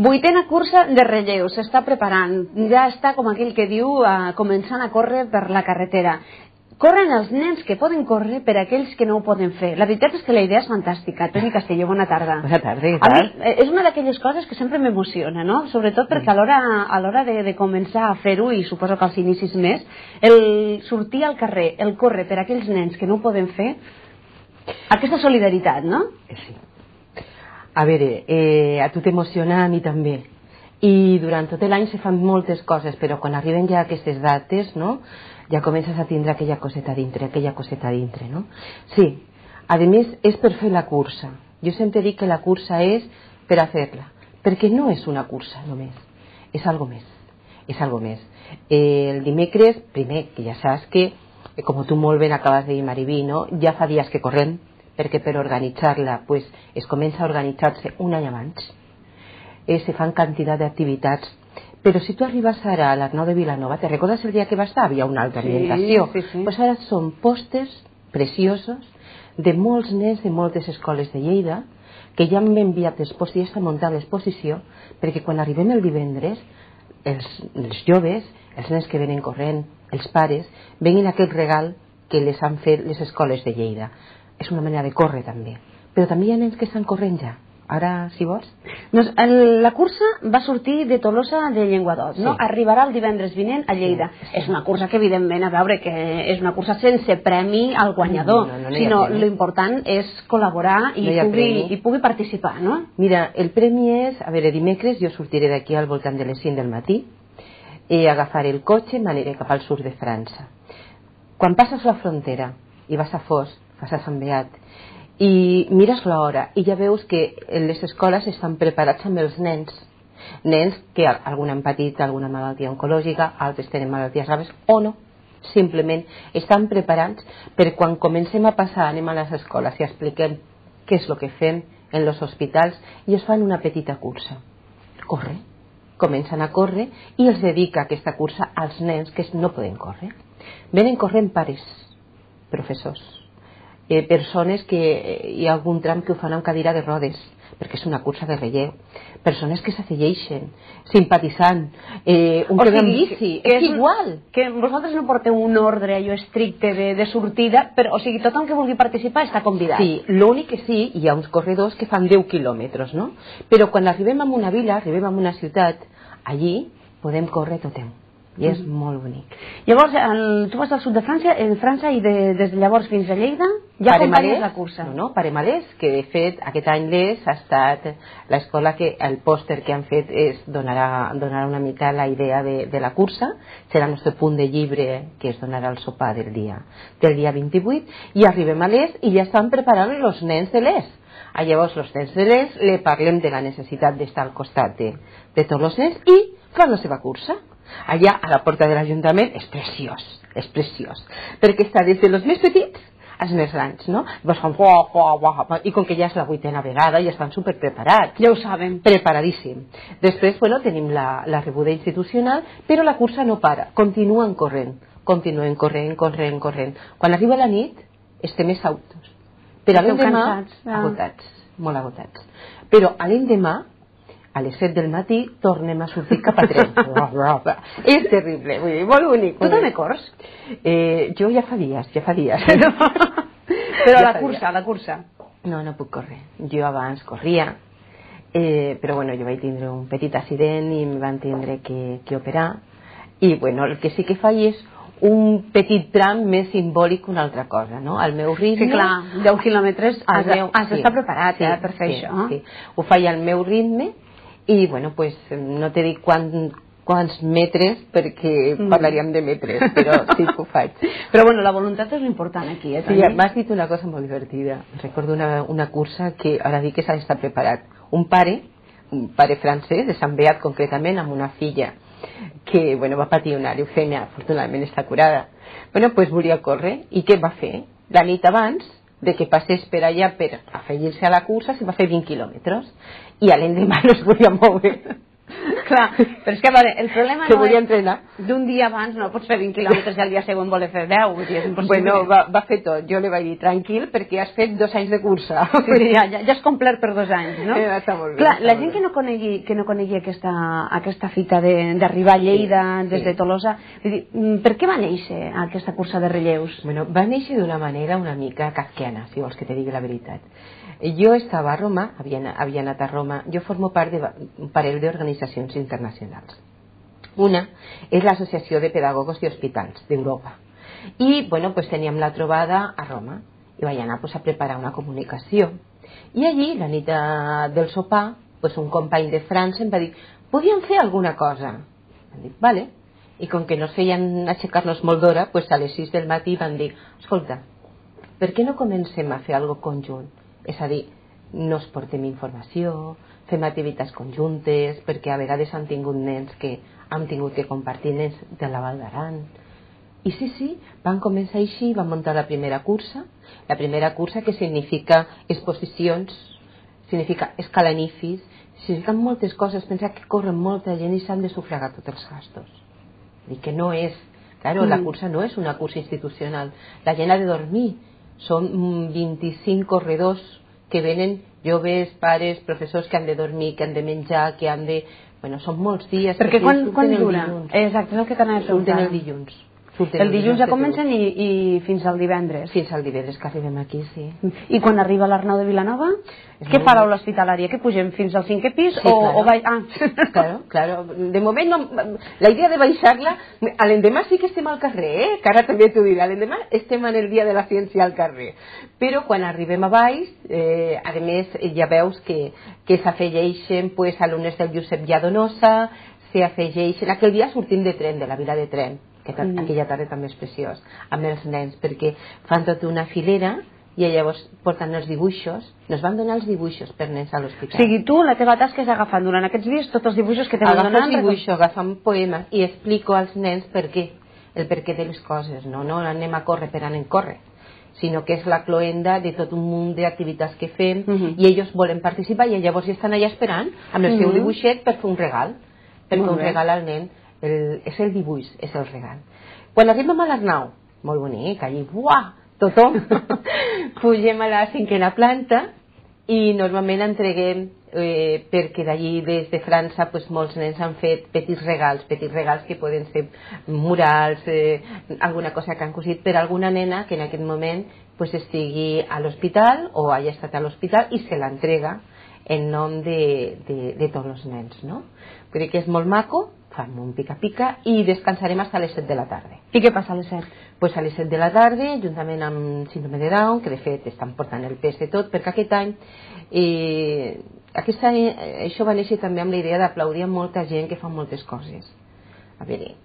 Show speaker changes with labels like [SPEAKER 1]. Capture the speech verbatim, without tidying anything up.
[SPEAKER 1] Vuitena cursa de relleu, s'està preparant, ja està, com aquell que diu, uh, començant a córrer per la carretera. Corren els nens que poden córrer per aquells que no ho poden fer. La veritat és que la idea és fantàstica. Toni Castelló, bona tarda.
[SPEAKER 2] Bona tarda, què
[SPEAKER 1] tal?
[SPEAKER 2] tal?
[SPEAKER 1] A mi, és una d'aquelles coses que sempre m'emociona, no? Sobretot perquè a l'hora a l'hora de, de començar a fer-ho, i suposo que als inicis més, el sortir al carrer, el córrer per aquells nens que no ho poden fer, aquesta solidaritat, no?
[SPEAKER 2] Sí. A veure, eh, a tu t'emociona, a mi també. I durant tot l'any se fan moltes coses, però quan arriben ja aquestes dates, no?, ja comences a tindre aquella coseta dintre, aquella coseta dintre, no? Sí, a més és per fer la cursa. Jo sempre dic que la cursa és per a fer-la, perquè no és una cursa només, és algo més, és algo més. Eh, el dimecres, primer, que ja saps que, eh, com tu molt ben acabes de dir, Mariví, no?, ja fa dies que correm, perquè per organitzar-la pues, es comença a organitzar-se un any abans, eh, se fan quantitat d'activitats. Però si tu arribes ara a l'Arnau de Vilanova, te recordes el dia que va estar? Havia una altra ambientació.
[SPEAKER 1] Sí, sí, sí.
[SPEAKER 2] Pues ara són pòsters preciosos de molts nens de moltes escoles de Lleida que ja m'han enviat els pòsters i ja està muntant l'exposició, perquè quan arribem el divendres, els, els joves, els nens que venen corrent, els pares, venguin aquest regal que les han fet les escoles de Lleida. És una manera de córrer també. Però també hi ha nens que estan corrent ja. Ara, si vols?
[SPEAKER 1] Doncs el, la cursa va sortir de Tolosa de Llenguadoc, no?
[SPEAKER 2] Sí.
[SPEAKER 1] Arribarà el divendres vinent a Lleida. Sí, sí. És una cursa que, evidentment, a veure, que és una cursa sense premi al guanyador,
[SPEAKER 2] no, no, no
[SPEAKER 1] sinó l'important és col·laborar i,
[SPEAKER 2] no
[SPEAKER 1] pugui, i pugui participar, no?
[SPEAKER 2] Mira, el premi és, a veure, dimecres jo sortiré d'aquí al voltant de les cinc del matí i agafaré el cotxe i m'aniré cap al sud de França. Quan passes la frontera i vas a Fos, vas a Sant Beat, i mires l'hora i ja veus que les escoles estan preparats amb els nens, nens que algun han patit alguna malaltia oncològica, altres tenen malalties graves o no, simplement estan preparats per quan comencem a passar, anem a les escoles i expliquem què és el que fem en els hospitals i es fan una petita cursa. Corre, comencen a córrer i els dedica aquesta cursa als nens que no poden córrer. Venen corrent pares, professors, Eh, persones que eh, hi ha algun tram que ho fan amb cadira de rodes, perquè és una cursa de relleu, persones que s'afegeixen, simpatitzant, eh, un
[SPEAKER 1] o
[SPEAKER 2] que ve en
[SPEAKER 1] sigui,
[SPEAKER 2] bici,
[SPEAKER 1] que
[SPEAKER 2] és igual.
[SPEAKER 1] Que vosaltres no porteu un ordre allò estricte de, de sortida, però, o sigui, tothom que vulgui participar està convidat.
[SPEAKER 2] Sí, l'únic que sí, hi ha uns corredors que fan deu quilòmetres, no? Però quan arribem a una vila, arribem a una ciutat, allí podem córrer tothom. I és mm. molt bonic.
[SPEAKER 1] Llavors, el, tu vas al sud de França, en França i de, des de llavors fins a Lleida ja acompanyes la cursa.
[SPEAKER 2] No, no, Paremalès, que de fet aquest any l'Es ha estat l'escola que el pòster que han fet és donarà, donarà una mica la idea de, de la cursa, serà el nostre punt de llibre que es donarà al sopar del dia, del dia vint-i-vuit, i arribem a l'Es i ja estan preparant els nens de l'Es. Ah, llavors els nens de l'Es li parlem de la necessitat d'estar al costat de, de tots els nens i fan la seva cursa. Allà a la porta de l'Ajuntament és preciós, és preciós, perquè està des dels més petits als més grans, no? I com que ja és la vuitena vegada ja estan super preparats.
[SPEAKER 1] Ja ho saben.
[SPEAKER 2] Preparadíssim. Després, bueno, tenim la, la rebuda institucional, però la cursa no para, continuen corrent, continuen corrent, corrent, corrent. Quan arriba la nit, estem exhaustos. Però a l'endemà, agotats, molt agotats. Però a l'endemà, a les set del matí tornem a sortir cap a tres. És terrible, vull dir, molt bonic.
[SPEAKER 1] Tu també corres?
[SPEAKER 2] Eh, jo ja fa dies, ja fa dies.
[SPEAKER 1] No. Però ja la cursa, dies. la cursa.
[SPEAKER 2] No, no puc córrer. Jo abans corria, eh, però bueno, jo vaig tindre un petit accident i em van tindre que, que operar. I bueno, el que sí que faig és un petit tram més simbòlic que una altra cosa, no? Al meu ritme...
[SPEAKER 1] Sí, clar, deu quilòmetres has d'estar sí, preparat sí, eh, per fer
[SPEAKER 2] sí,
[SPEAKER 1] això.
[SPEAKER 2] Sí. Ho faig al meu ritme i, bueno, pues, no t'he dit quan, quants metres perquè mm. parlaríem de metres, però sí que ho faig.
[SPEAKER 1] Però, bueno, la voluntat és l'important aquí, eh?
[SPEAKER 2] Sí, m'has dit una cosa molt divertida. Recordo una, una cursa que ara dic que s'ha d'estar preparat. Un pare, un pare francès, de Sant Beat concretament, amb una filla que, bueno, va patir una leucèmia, afortunadament està curada. Bueno, pues volia córrer, i què va fer? La nit abans de que passés per allà per afegir-se a la cursa, se va fer vint quilòmetres, i a l'endemà no es volia moure.
[SPEAKER 1] Clar, però és que veure, el problema
[SPEAKER 2] Se
[SPEAKER 1] no
[SPEAKER 2] volia
[SPEAKER 1] és
[SPEAKER 2] entrenar.
[SPEAKER 1] d'un dia abans no pots fer vint quilòmetres i al dia següent voler fer deu, vull dir, és impossible.
[SPEAKER 2] Bueno, va, va fer tot. Jo li vaig dir, tranquil, perquè has fet dos anys de cursa.
[SPEAKER 1] Sí, sí, ja, ja, ja has complert per dos anys, no?
[SPEAKER 2] Eh, està molt bé,
[SPEAKER 1] Clar,
[SPEAKER 2] està
[SPEAKER 1] la
[SPEAKER 2] molt
[SPEAKER 1] gent
[SPEAKER 2] bé.
[SPEAKER 1] que no conegui, que no conegui aquesta, aquesta fita de- d'arribar a Lleida
[SPEAKER 2] Sí,
[SPEAKER 1] des
[SPEAKER 2] sí.
[SPEAKER 1] de Tolosa, vull dir, mm, per què va néixer aquesta cursa de relleus?
[SPEAKER 2] Bueno, va néixer d'una manera una mica kafkiana, si vols que te digui la veritat. Jo estava a Roma, havia, havia anat a Roma, jo formo part d'un parell d'organitzacions internacionals. Una és l'Associació de Pedagogos i Hospitals d'Europa. I, bueno, pues teníem la trobada a Roma i vaig anar pues, a preparar una comunicació. I allí, la nit de, del sopar, pues, un company de França em va dir, podíem fer alguna cosa? Em dic, vale. I com que no es feien aixecar-nos molt d'hora, pues, a les sis del matí van dir, escolta, per què no comencem a fer alguna cosa conjunt? És a dir, nos portem informació, fem activitats conjuntes, perquè a vegades han tingut nens que han tingut que compartir nens de la Val d'Aran. I sí, sí, van començar així, van muntar la primera cursa, la primera cursa que significa exposicions, significa escalanifis, significa moltes coses, pensa que corren molta gent i s'han de sufragar tots els gastos. I que no és, claro, mm. la cursa no és una cursa institucional, la gent ha de dormir, són vint-i-cinc corredors que venen joves, pares, professors que han de dormir, que han de menjar, que han de... Bueno, són molts dies.
[SPEAKER 1] Perquè quan, quan dura?
[SPEAKER 2] Dilluns.
[SPEAKER 1] Exacte, és el que t'anava a preguntar.
[SPEAKER 2] Surten el dilluns.
[SPEAKER 1] El dilluns ja comencen i, i fins al divendres.
[SPEAKER 2] Fins al divendres que arribem aquí, sí.
[SPEAKER 1] I quan arriba l'Arnau de Vilanova? Què fa l'aula hospitalària? Que pugem fins al cinquè pis?
[SPEAKER 2] Sí,
[SPEAKER 1] o,
[SPEAKER 2] claro.
[SPEAKER 1] o vai... Ah.
[SPEAKER 2] Claro, claro. De moment, no, la idea de baixar-la, a l'endemà sí que estem al carrer, eh? Que ara també t'ho diré, a l'endemà estem en el dia de la ciència al carrer. Però quan arribem a baix, eh, a més, ja veus que, que s'afegeixen pues, alumnes del Josep Lladonosa, s'afegeixen... Aquell dia sortim de tren, de la vila de tren, que mm. aquella tarda també és preciós, amb els nens, perquè fan tota una filera i llavors porten els dibuixos, nos van donar els dibuixos per nens a l'hospital.
[SPEAKER 1] O sigui, tu la teva tasca és agafant durant aquests dies tots els dibuixos que t'han donat.
[SPEAKER 2] Agafo dibuixos, agafant poemes i explico als nens per què, el per què de les coses, no, no anem a córrer per anar a córrer, sinó que és la cloenda de tot un munt d'activitats que fem uh -huh. i ells volen participar i llavors estan allà esperant amb el uh -huh. seu dibuixet per fer un regal, per fer un regal al nen. El, és el dibuix, és el regal. Quan arribem a l'Arnau, molt bonic, allí, buah, tothom, pugem a la cinquena planta i normalment entreguem, eh, perquè d'allí des de França pues, molts nens han fet petits regals, petits regals que poden ser murals, eh, alguna cosa que han cosit per alguna nena que en aquest moment pues, estigui a l'hospital o hagi estat a l'hospital i se l'entrega en nom de, de, de tots els nens, no? Crec que és molt maco, fem un pica-pica i descansarem fins a les set de la tarda.
[SPEAKER 1] I què passa a les set?
[SPEAKER 2] Pues a les set de la tarda, juntament amb síndrome de Down, que de fet estan portant el pes de tot, perquè aquest any, eh, aquest any això va néixer també amb la idea d'aplaudir a molta gent que fa moltes coses. A veure,